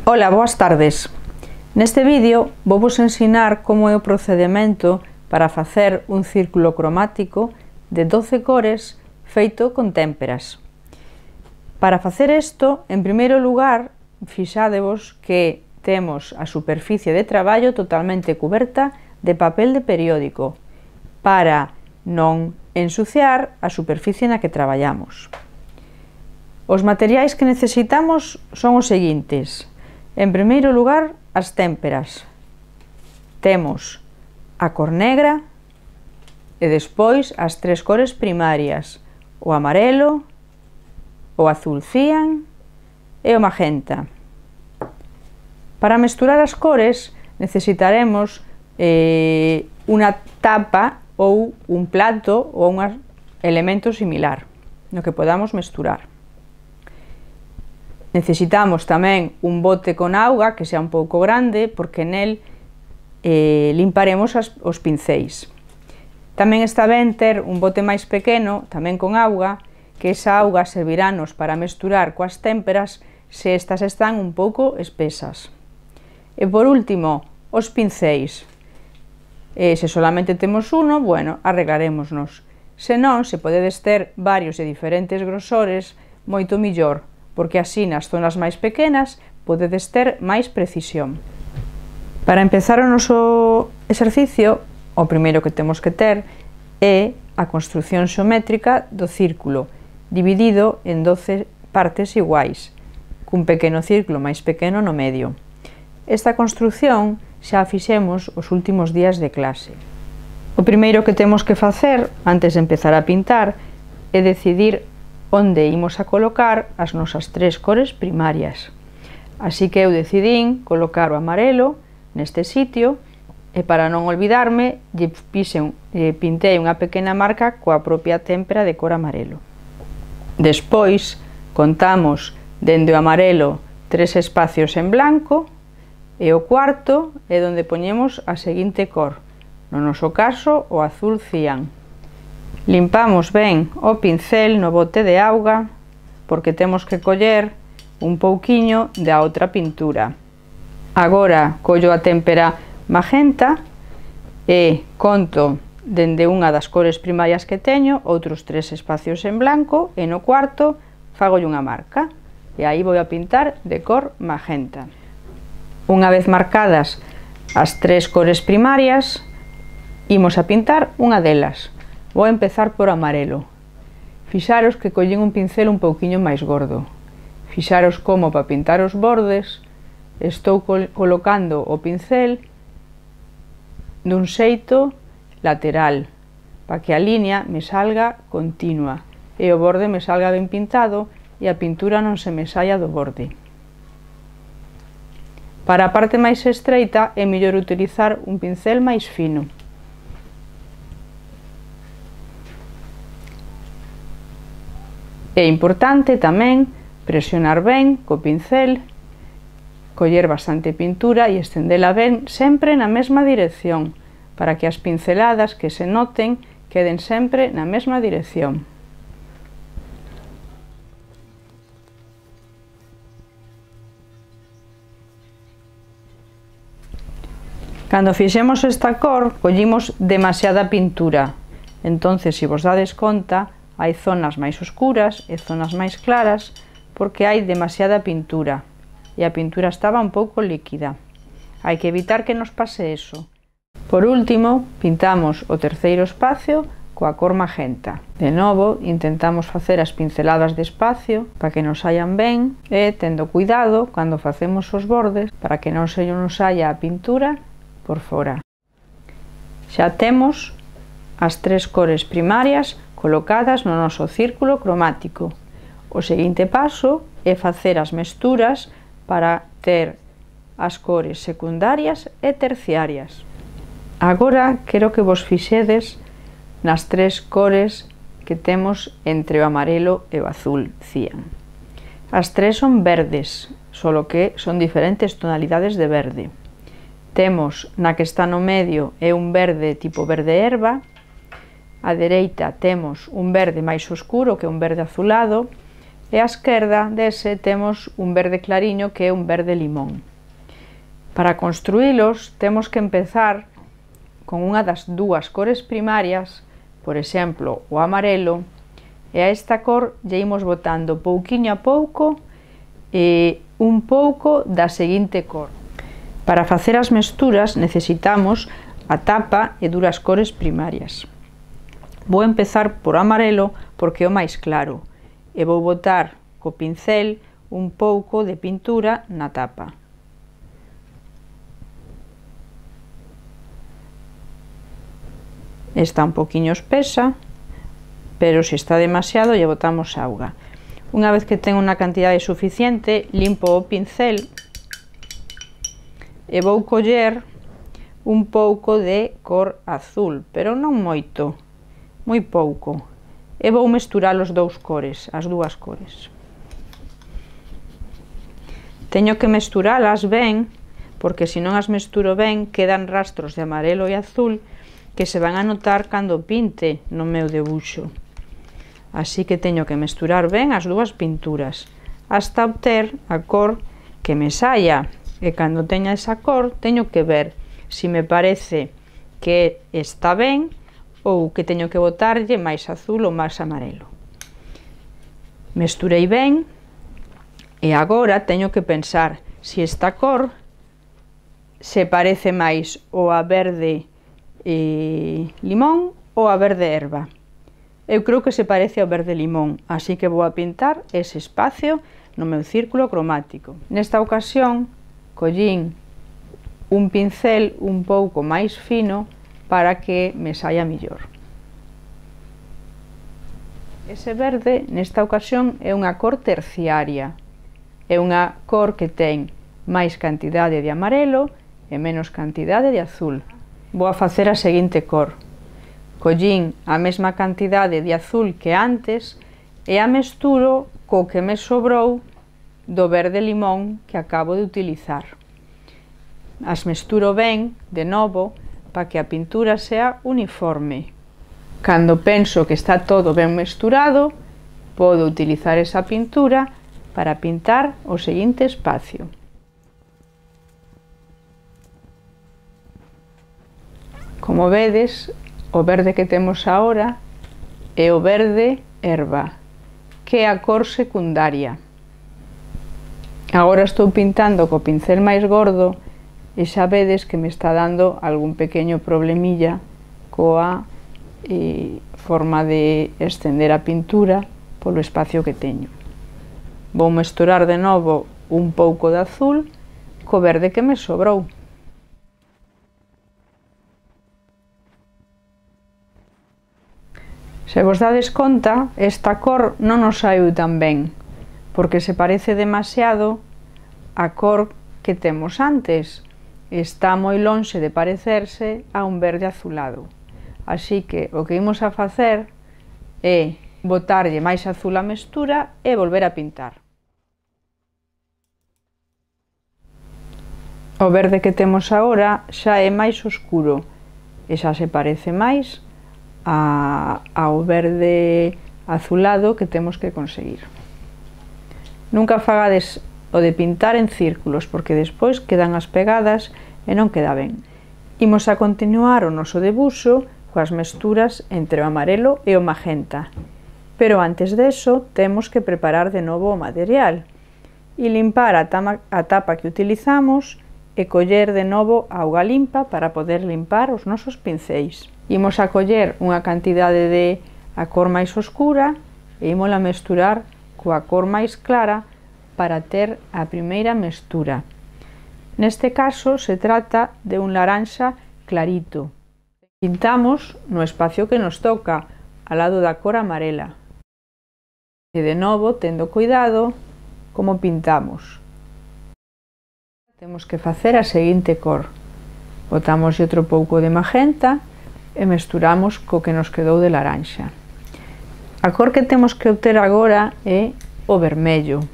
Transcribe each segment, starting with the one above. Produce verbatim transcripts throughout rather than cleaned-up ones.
Ola, boas tardes. Neste vídeo vou vos ensinar como é o procedemento para facer un círculo cromático de doce cores feito con témperas. Para facer isto, en primeiro lugar, fixádevos que temos a superficie de traballo totalmente cuberta de papel de periódico para non ensuciar a superficie na que traballamos. Os materiais que necesitamos son os seguintes. En primeiro lugar, as témperas. Temos a cor negra e despois as tres cores primarias, o amarelo, o azul cian e o magenta. Para mesturar as cores necesitaremos eh, unha tapa ou un plato ou un elemento similar no que podamos mesturar. Necesitamos tamén un bote con auga que sea un pouco grande porque nel eh, limparemos as, os pincéis. Tamén está ben ter un bote máis pequeno, tamén con auga, que esa auga servirános para mesturar coas témperas se estas están un pouco espesas. E por último, os pincéis. E se solamente temos uno, bueno, arreglarémonos. Se non, se podedes ter varios de diferentes grosores, moito millor, porque así nas zonas máis pequenas podedes ter máis precisión. Para empezar o noso exercicio, o primeiro que temos que ter é a construción xeométrica do círculo, dividido en doce partes iguais, cun pequeno círculo máis pequeno no medio. Esta construción xa a fixemos os últimos días de clase. O primeiro que temos que facer, antes de empezar a pintar, é decidir onde imos a colocar as nosas tres cores primarias. Así que eu decidín colocar o amarelo neste sitio e para non olvidarme, lle pixen, lle pintei unha pequena marca coa propia témpera de cor amarelo. Despois, contamos dende o amarelo tres espacios en blanco e o cuarto é onde poñemos a seguinte cor, no noso caso o azul cian. Limpamos ben o pincel no bote de auga porque temos que coller un pouquiño da outra pintura. Agora collo a témpera magenta e conto dende unha das cores primarias que teño outros tres espacios en blanco e no cuarto fagolle unha marca e aí vou a pintar de cor magenta. Unha vez marcadas as tres cores primarias, imos a pintar unha delas. Vou empezar por amarelo. Fixaros que collín un pincel un pouquiño máis gordo. Fixaros como para pintar os bordes estou col colocando o pincel dun xeito lateral para que a liña me salga continua e o borde me salga ben pintado e a pintura non se me saia do borde. Para a parte máis estreita é mellor utilizar un pincel máis fino. É importante tamén presionar ben co pincel, coller bastante pintura e estendela ben sempre na mesma dirección, para que as pinceladas que se noten queden sempre na mesma dirección. Cando fixemos esta cor, collimos demasiada pintura, entonces, se vos dades conta, hai zonas máis oscuras e zonas máis claras porque hai demasiada pintura e a pintura estaba un pouco líquida. Hai que evitar que nos pase eso. Por último, pintamos o terceiro espacio coa cor magenta. De novo, intentamos facer as pinceladas despacio para que nos saian ben e tendo cuidado cando facemos os bordes para que non se nos saia a pintura por fora. Xa temos as tres cores primarias colocadas no noso círculo cromático. O seguinte paso é facer as mesturas para ter as cores secundarias e terciarias. Agora quero que vos fixedes nas tres cores que temos entre o amarelo e o azul cian. As tres son verdes, solo que son diferentes tonalidades de verde. Temos na que está no medio é un verde tipo verde herba. A dereita temos un verde máis oscuro que un verde azulado e á esquerda dese temos un verde clariño que é un verde limón. Para construílos temos que empezar con unha das dúas cores primarias, por exemplo, o amarelo, e a esta cor lle imos botando pouquiño a pouco e un pouco da seguinte cor. Para facer as mesturas necesitamos a tapa e duras cores primarias. Vou empezar por amarelo porque é o máis claro e vou botar co pincel un pouco de pintura na tapa. Está un poquinho espesa, pero se está demasiado lle botamos auga. Unha vez que ten unha cantidade suficiente, limpo o pincel e vou coller un pouco de cor azul, pero non moito, moi pouco, e vou mesturar os dous cores, as dúas cores. Teño que mesturalas ben, porque se non as mesturo ben quedan rastros de amarelo e azul que se van a notar cando pinte no meu debuxo. Así que teño que mesturar ben as dúas pinturas hasta obter a cor que me saia, e cando teña esa cor teño que ver se me parece que está ben ou que teño que botarlle máis azul ou máis amarelo. Mesturei ben e agora teño que pensar se esta cor se parece máis ou a verde eh, limón ou a verde herba. Eu creo que se parece ao verde limón, así que vou a pintar ese espacio no meu círculo cromático. Nesta ocasión collín un pincel un pouco máis fino para que me saia mellor. Ese verde nesta ocasión é unha cor terciaria, é unha cor que ten máis cantidade de amarelo e menos cantidade de azul. Vou a facer a seguinte cor. Collín a mesma cantidade de azul que antes e a mesturo co que me sobrou do verde limón que acabo de utilizar. As mesturo ben, de novo, para que a pintura sea uniforme. Cando penso que está todo ben mesturado, podo utilizar esa pintura para pintar o seguinte espacio. Como vedes, o verde que temos agora é o verde herba, que é a cor secundaria. Agora estou pintando co pincel máis gordo e xa vedes que me está dando algún pequeño problemilla coa eh, forma de estender a pintura polo espacio que teño. Vou mesturar de novo un pouco de azul co verde que me sobrou. Se vos dades conta, esta cor non nos saiu tan ben, porque se parece demasiado á cor que temos antes. Está moi lonxe de parecerse a un verde azulado. Así que o que imos a facer é botarlle máis azul á mestura e volver a pintar. O verde que temos agora xa é máis oscuro e xa se parece máis A, ao verde azulado que temos que conseguir. Nunca fagades o de pintar en círculos, porque despois quedan as pegadas e non queda ben. Imos a continuar o noso debuxo coas mesturas entre o amarelo e o magenta, pero antes deso temos que preparar de novo o material e limpar a, tama, a tapa que utilizamos e coller de novo auga limpa para poder limpar os nosos pincéis. Imos a coller unha cantidade de a cor máis oscura e imos a mesturar coa cor máis clara para ter a primeira mestura. Neste caso se trata de un laranxa clarito. Pintamos no espacio que nos toca, ao lado da cor amarela. E de novo, tendo cuidado como pintamos. Temos que facer a seguinte cor. Botamos outro pouco de magenta e mesturamos co que nos quedou de laranxa. A cor que temos que obter agora é o vermello.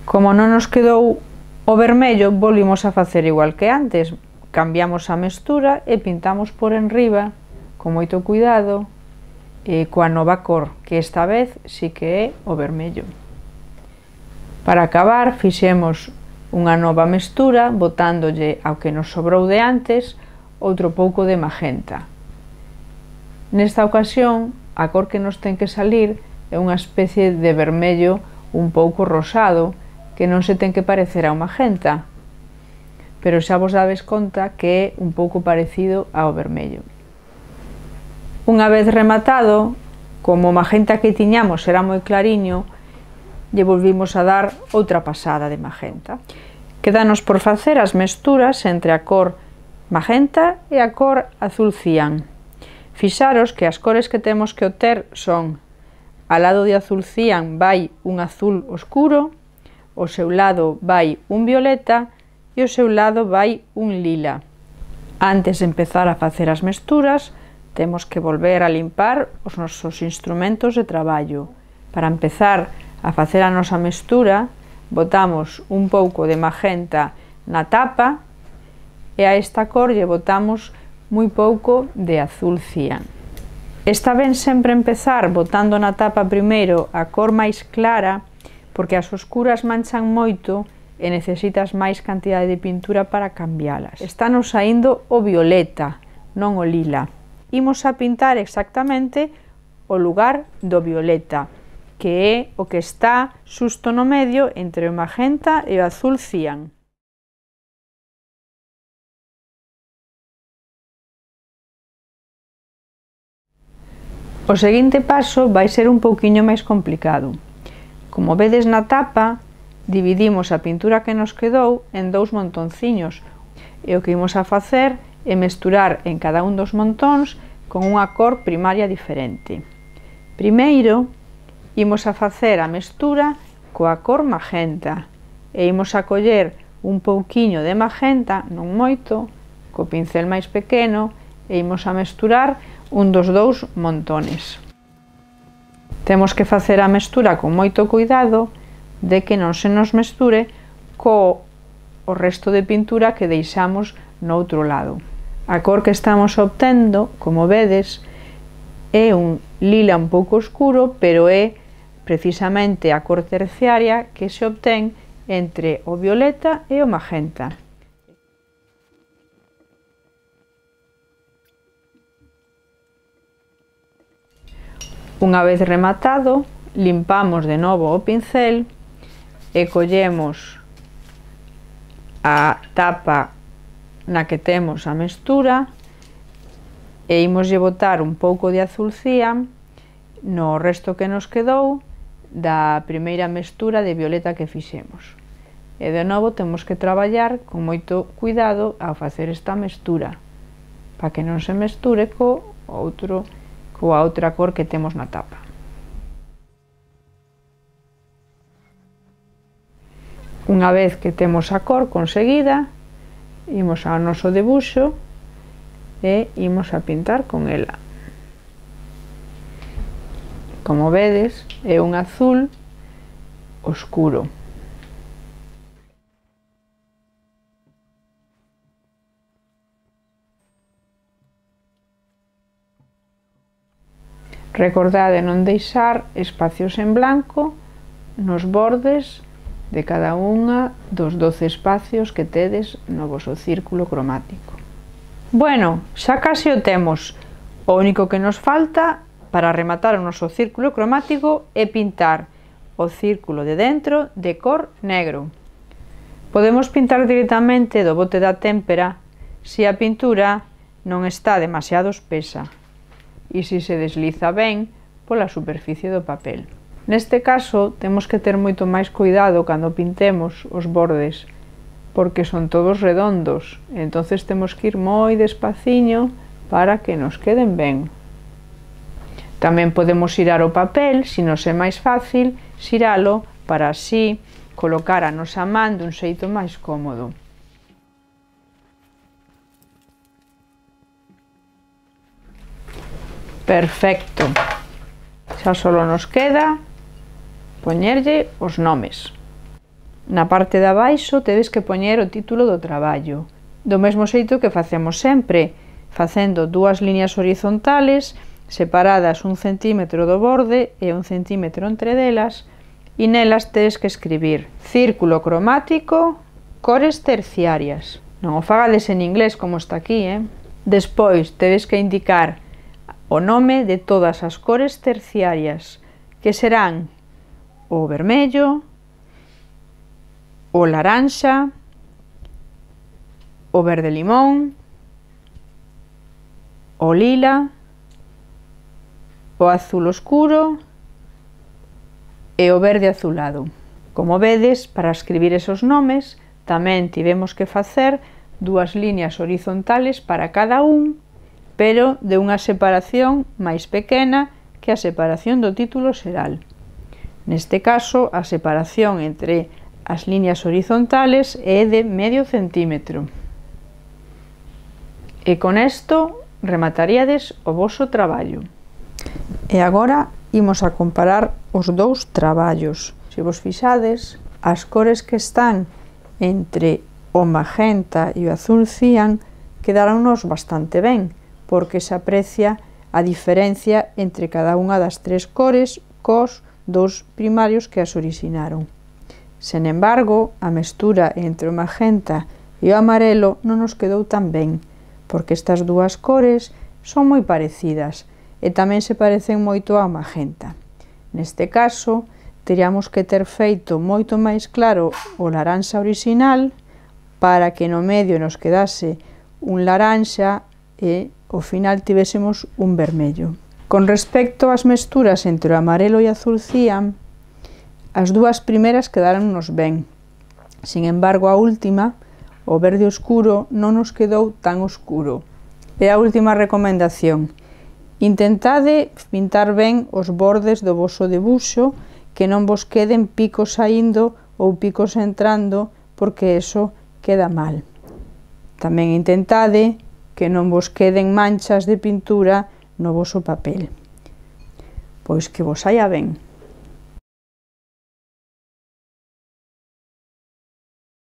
Como non nos quedou o vermello, volvimos a facer igual que antes. cambiamos a mestura e pintamos por enriba con moito cuidado e coa nova cor, que esta vez sí que é o vermello. Para acabar, fixemos unha nova mestura botándolle ao que nos sobrou de antes outro pouco de magenta. Nesta ocasión, a cor que nos ten que salir é unha especie de vermello un pouco rosado que non se ten que parecer ao magenta, pero xa vos dades conta que é un pouco parecido ao vermello. Unha vez rematado, como o magenta que tiñamos era moi clariño, lle volvimos a dar outra pasada de magenta. Quédanos por facer as mesturas entre a cor magenta e a cor azul cian. Fixaros que as cores que temos que obter son: ao lado de azul cian vai un azul oscuro, ao seu lado vai un violeta e ao seu lado vai un lila. Antes de empezar a facer as mesturas, temos que volver a limpar os nosos instrumentos de traballo. Para empezar a facer a nosa mestura, botamos un pouco de magenta na tapa e a esta cor lle botamos moi pouco de azul cian. Está ben sempre empezar botando na tapa primeiro a cor máis clara, porque as oscuras manchan moito e necesitas máis cantidade de pintura para cambialas. Estános saindo o violeta, non o lila. Imos a pintar exactamente o lugar do violeta, que é o que está xusto no medio entre o magenta e o azul cian. O seguinte paso vai ser un pouquiño máis complicado. Como vedes na tapa, dividimos a pintura que nos quedou en dous montonciños e o que imos a facer é mesturar en cada un dos montóns con unha cor primaria diferente. Primeiro, imos a facer a mestura coa cor magenta e imos a coller un pouquiño de magenta, non moito, co pincel máis pequeno e imos a mesturar un dos dous montones. Temos que facer a mestura con moito cuidado de que non se nos mesture co o resto de pintura que deixamos no outro lado. A cor que estamos obtendo, como vedes, é un lila un pouco oscuro, pero é precisamente a cor terciaria que se obtén entre o violeta e o magenta. Unha vez rematado, limpamos de novo o pincel e collemos a tapa na que temos a mestura e imoslle botar un pouco de azul cian no resto que nos quedou da primeira mestura de violeta que fixemos. E de novo temos que traballar con moito cuidado ao facer esta mestura, para que non se mesture co outro, coa outra cor que temos na tapa. Unha vez que temos a cor conseguida, imos ao noso debuxo e imos a pintar con ela. Como vedes, é un azul oscuro. Recordade non deixar espacios en blanco nos bordes de cada unha dos doce espacios que tedes no voso círculo cromático. Bueno, xa case o temos. O único que nos falta para rematar o noso círculo cromático é pintar o círculo de dentro de cor negro. Podemos pintar directamente do bote da témpera se a pintura non está demasiado espesa e se se desliza ben pola superficie do papel. Neste caso, temos que ter moito máis cuidado cando pintemos os bordes, porque son todos redondos, e entonces temos que ir moi despaciño para que nos queden ben. Tamén podemos xirar o papel, se nos é máis fácil, xiralo para así colocar a nosa man dun xeito máis cómodo. Perfecto. Xa só nos queda poñerlle os nomes. Na parte de abaixo tedes que poñer o título do traballo do mesmo xeito que facemos sempre, facendo dúas liñas horizontales separadas un centímetro do borde e un centímetro entre delas, e nelas tedes que escribir círculo cromático, cores terciarias. Non o fagades en inglés como está aquí, eh? Despois tedes que indicar o nome de todas as cores terciarias, que serán o vermello, o laranxa, o verde limón, o lila, o azul oscuro e o verde azulado. Como vedes, para escribir esos nomes, tamén tivemos que facer dúas liñas horizontales para cada un, pero de unha separación máis pequena que a separación do título xeral. Neste caso, a separación entre as liñas horizontales é de medio centímetro. E con isto remataríades o voso traballo. E agora imos a comparar os dous traballos. Se vos fixades, as cores que están entre o magenta e o azul cian quedaronnos bastante ben, porque se aprecia a diferencia entre cada unha das tres cores cos dous primarios que as orixinaron. Sen embargo, a mestura entre o magenta e o amarelo non nos quedou tan ben, porque estas dúas cores son moi parecidas e tamén se parecen moito ao magenta. Neste caso, teríamos que ter feito moito máis claro o laranxa orixinal para que no medio nos quedase un laranxa e ao final tivésemos un vermello. Con respecto ás mesturas entre o amarelo e azul cian, as dúas primeiras quedáronnos ben. Sin embargo, a última, o verde oscuro, non nos quedou tan oscuro. E a última recomendación: intentade pintar ben os bordes do voso debuxo, que non vos queden picos saindo ou picos entrando, porque eso queda mal. Tamén intentade que non vos queden manchas de pintura no voso papel. Pois que vos saia ben.